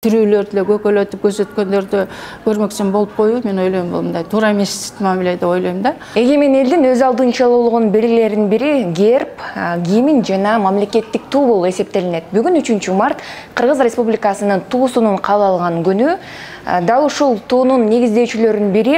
Тирүүлөр деле көкөлөтүп көзөткөндөрдү көрмөкчүн болуп коюу мен ойлойм бул мындай туура эмес мамиле деп ойлойм да. Эгемен элдин өз алдынча болгон белгилеринин бири герб, гимн жана мамлекеттик туу болуп эсептелинет. Бүгүн 3-март Кыргыз Республикасынын туусунун кабыл алган күнү. Дал ушул туунун негиздөөчүлөрүнүн бири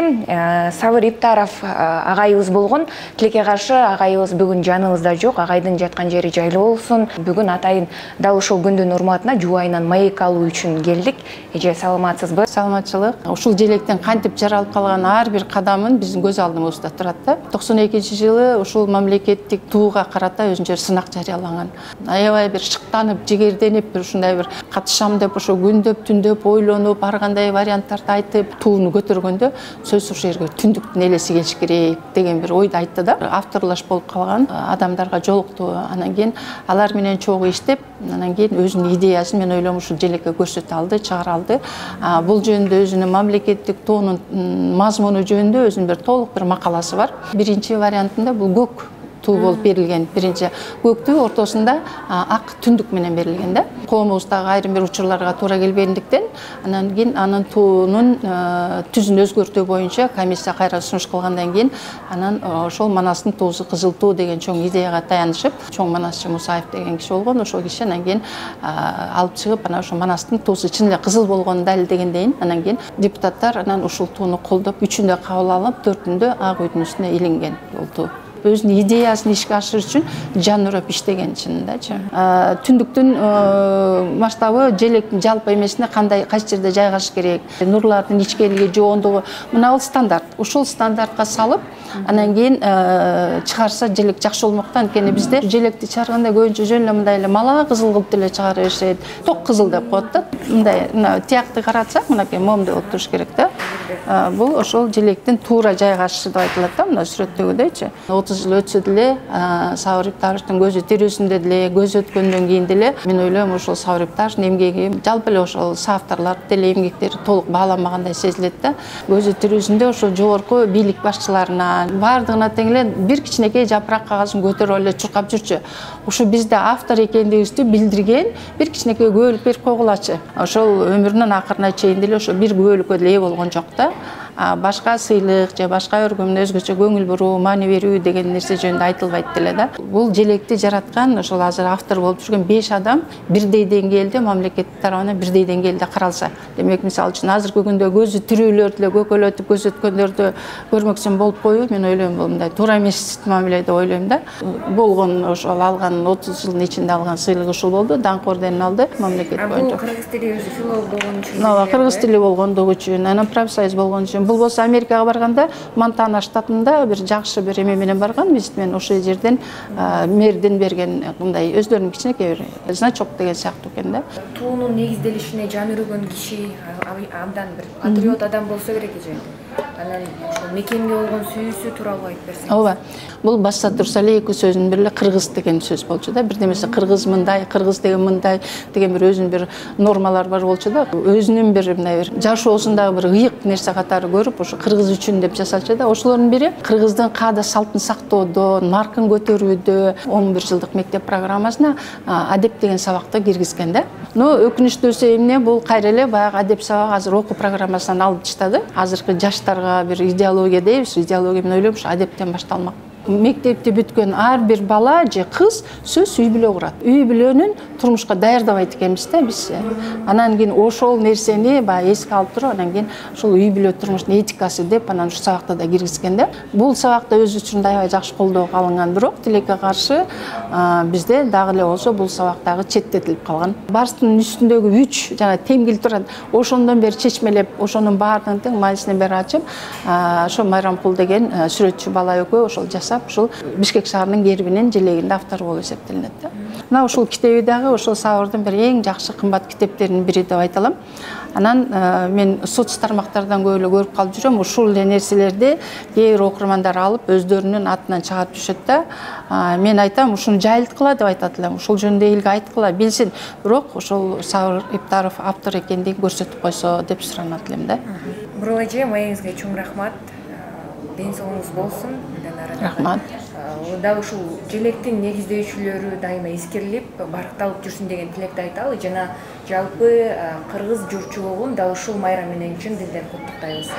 Сабыр Иптаров агайыбыз болгон. Тилекке каршы агайыбыз бүгүн жаныбызда жок. Агайдын жаткан жери жайлуу болсун. Бүгүн атайын дал ушул күндүн урматына жубайынан маек алуу үчүн келдик. Эже саламатсызбы? Саламатчылык. Ушул желектен кантип жаралып калган ар бир кадамын биздин көз алдыбызда турат да. 92-жылы ушул мамлекеттик тууга карата өзүнчө сынак жарыялаган. Аябай бир шыктанып, жигерденип, бир ушундай бир катышам деп ошо күндөп, түндөп ойлонуп, ар кандай варианттарды айтып, тууну көтөргөндө сөзсүз ушул жерге түндүктүн элеси келиш керек деген бир ойду айтты да. Авторлаш болуп калган адамдарга жолукту. Анан кийин алар менен чогуу иштеп, анан кийин өзүнүн идеясын мен ойлойм ушул желекке көрсөтө алды, чыгара алды. Бул жөнүндө өзүнүн мамлекеттик туунун мазмуну жөнүндө өзүнүн бир толук бир макаласы бар. Биринчи вариантында бул көк туу болуп берилген. Биринчи көктүү, ортосунда ак түндүк менен берилген да. Коомубуздагы айрым бир учурларга туура келбегендиктен, анан кийин анын туунун түзүн өзгөртүү боюнча комиссия кайра сунуш кылгандан кийин анан ошол Манастын туусу кызыл туу деген чоң идеяга таянышып, чоң Манасчы Мусаев деген киши болгон. Ошол киши анан кийин алып чыгып, анан ошо Манастын туусу чын эле кызыл болгонун далилдегенден анан кийин депутаттар анан ушул тууну колдоп, 3-үндө кабыл алып, 4-үндө Ак үйдүн үстүнө илинген бул туу. Өзүнүн идеясын ишке ашырыш үчүн жан урап иштеген чынындачы. Түндүктүн масштабы желектин жалпы эмесине кандай кайсы жерде жайгашыш керек, нурлардын ичкелиги, жоондугу мына бул стандарт. Ушул стандартка салып, анан кийин чыгарса желек жакшы болмок да. Анткени бизде желекти чыгарганда көбүнчө жөн эле мындай эле мала кызыл кылып деле чыгара беришет. Ток кызыл деп коет да. Мындай тиякты каратсак, мынакей момундай болуп туруш керек да. Бул ошол желектин туура жайгашышы деп айтылат да, мына сүрөттөгүдөйчү. 30 жыл өтсө деле, Сабыр Иптаровдун көзү тирүүсүндө деле, көз өткөндөн кийин деле мен ойлойм ошол Сабыр Иптаровдун эмгеги, жалпы эле ошол соавторлор деле эмгектери толук бааланбагандай сезилет да. Көзү тирүүсүндө ошол жогорку бийлик башчыларына баардыгына тең эле бир кичинекей жапырак кагазын көтөрүп эле чуркап жүрчү. Ушу бизде автор экендигибизди билдирген бир кичинекей күбөлүк берип койгулачы. Ошол өмүрүнүн акырына чейин деле ошо бир күбөлүккө деле ээ болгон жок да. Башка сыйлык же башка өргөмүн өзгөчө көңүл буруу, маани берүү деген нерсе жөнүндө айтылбайт деле да. Бул желекти жараткан ошол азыр автор болуп жүргөн 5 адам бирдей деңгээлде мамлекет тарабынан бирдей деңгээлде каралса. Демек, мисалы үчүн азыркы күндө көзү тирүүлөр деле көкөлөтүп көзөткөндөрдү көрмөкчүн болуп коюу мен ойлойм бул мындай туура эмес мамиле деп ойлойм да. Болгон ошол алган 30 жылдын ичинде алган сыйлыгы ушул болду. Даңк орденин алды мамлекет боюнча. Кыргыз тили өзү филолог болгон үчүн. Кыргыз тили болгондугу үчүн, анан профсоюз болгон үчүн. Бул болсо Америкага барганда Монтана штатында бир жакшы бир эме менен барган. Биз мен ошол жерден мэрдин берген мындай өздөрүнүн кичинекей бир значок деген сыяктуу экен да. Туунун негизделишине жан үргөн киши абдан бир патриот адам болсо керек эже. Анан ошол мекенге болгон сүйүүсү тууралуу айтып берсеңиз. Ооба. Бул башта турса эле эки сөзүнүн бири эле кыргыз деген сөз болчу да. Бирдемесе кыргыз мындай, кыргыз деген мындай деген бир өзүнүн бир нормалар бар болчу да. Өзүнүн бир мындай бир жашоосундагы бир ыйык нерсе катары көрүп, ошо кыргыз үчүн деп жасачу да. Ошолордун бири кыргыздын каада салтын сактоодо, наркын көтөрүүдө 11 жылдык мектеп программасына адеп деген сабакты киргизген да. Но өкүнүчтүүсү эмне, бул кайра эле баягы адеп сабагы азыр окуу программасынан алып таштады. Азыркы жаштарга бир идеология дейбиз, идеология мен ойлойм ушу адептен башталмак. Мектепти бүткөн ар бир бала же кыз сөз үй бүлө курат. Үй бүлөнүн турмушка даярдабайт экенбиз да биз. Анан кийин ошол нерсени баягы эске алып туруп, анан кийин ошол үй бүлө турмуштун этикасы деп анан ушу сабакта да киргизген да. Бул сабакта өз учурунда аябай жакшы колдоого алынган, бирок тилекке каршы бизде дагы эле болсо бул сабак дагы четтетилип калган. Барстын үстүндөгү 3 жана темгил турат. Ошондон бери чечмелеп, ошонун баардыгын тең маанисинен бери ачып, ошо Майрамкул деген сүрөтчү бала экөө ошол жасап, ушул Бишкек шаарынын гербинин желегинде автор болуп эсептелинет да. Мына ушул китеби дагы ошол Сабырдын бир эң жакшы кымбат китептеринин бири деп айта алам. Анан мен соц тармактардан көп эле көрүп калып жүрөм. Ушул эле нерселерди кээ бир окурмандар алып өздөрүнүн атынан чыгарып түшөт да. Мен айтам, ушуну жайылткыла деп айтат элем. Ушул жөнүндө элге айткыла, билсин. Бирок ошол Сабыр Иптаров автор экендигин көрсөтүп койсо деп суранат элем да. Бурул эже, маегиңизге чоң рахмат. Ден соолугуңуз болсун. Рахмат. дал ушул желектин негиздөөчүлөрү дайыма эскерилип баркталып жүрсүн деген тилекти айталы жана жалпы кыргыз журтчулугун дал ушул майрам менен чын дилден куттуктайбыз.